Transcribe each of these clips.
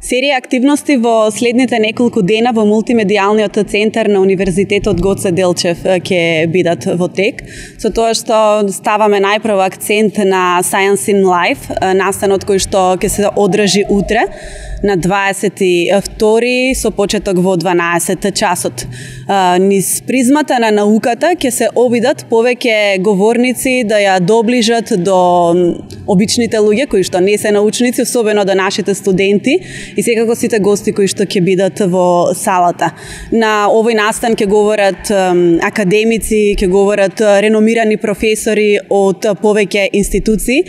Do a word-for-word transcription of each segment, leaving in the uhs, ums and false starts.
Серија активности во следните неколку дена во мултимедијалниот центар на Универзитетот Гоце Делчев ќе бидат во тек, со тоа што ставаме најпрво акцент на Science in Life, настанот кој што ќе се одржи утре на дваесет и втори со почеток во дванаесет часот. Низ призмата на науката ќе се обидат повеќе говорници да ја доближат до обичните луѓе кои што не се научници, особено до нашите студенти и секако сите гости кои што ќе бидат во салата. На овој настан ќе говорат академици, ќе говорат реномирани професори од повеќе институции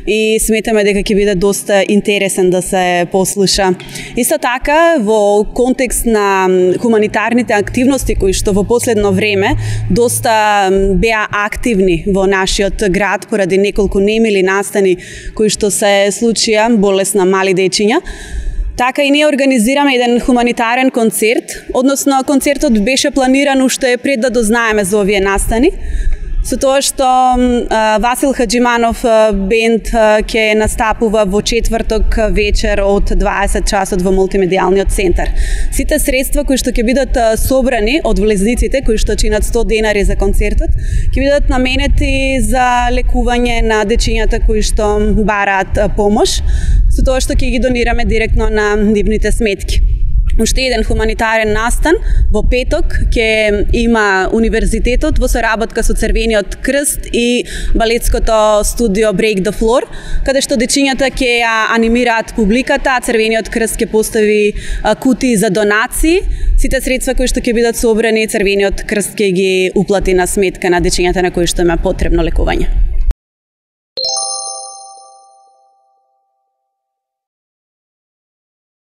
и сметаме дека ќе биде доста интересен да се послуша. Исто така, во контекст на хуманитарните активности кои што во последно време доста беа активни во нашиот град поради неколку немили настани кои што се случија, болест на мали дечиња, така и ние организираме еден хуманитарен концерт, односно концертот беше планиран уште пред да дознаеме за овие настани, со тоа што а, Васил Хаджиманов бенд ќе настапува во четврток вечер од дваесет часот во мултимедијалниот центар. Сите средства кои што ќе бидат собрани од влезниците кои што чинат сто денари за концертот, ќе бидат наменети за лекување на дечињата кои што бараат помош, со тоа што ќе ги донираме директно на нивните сметки. Уште еден хуманитарен настан во петок ќе има Универзитетот во соработка со Црвениот крст и балетското студио Break the Floor, каде што дечињата ќе ја анимираат публиката, а Црвениот крст ќе постави кутии за донации. Сите средства кои што ќе бидат собрани, Црвениот крст ќе ги уплати на сметка на дечињата на кои што има потребно лекување.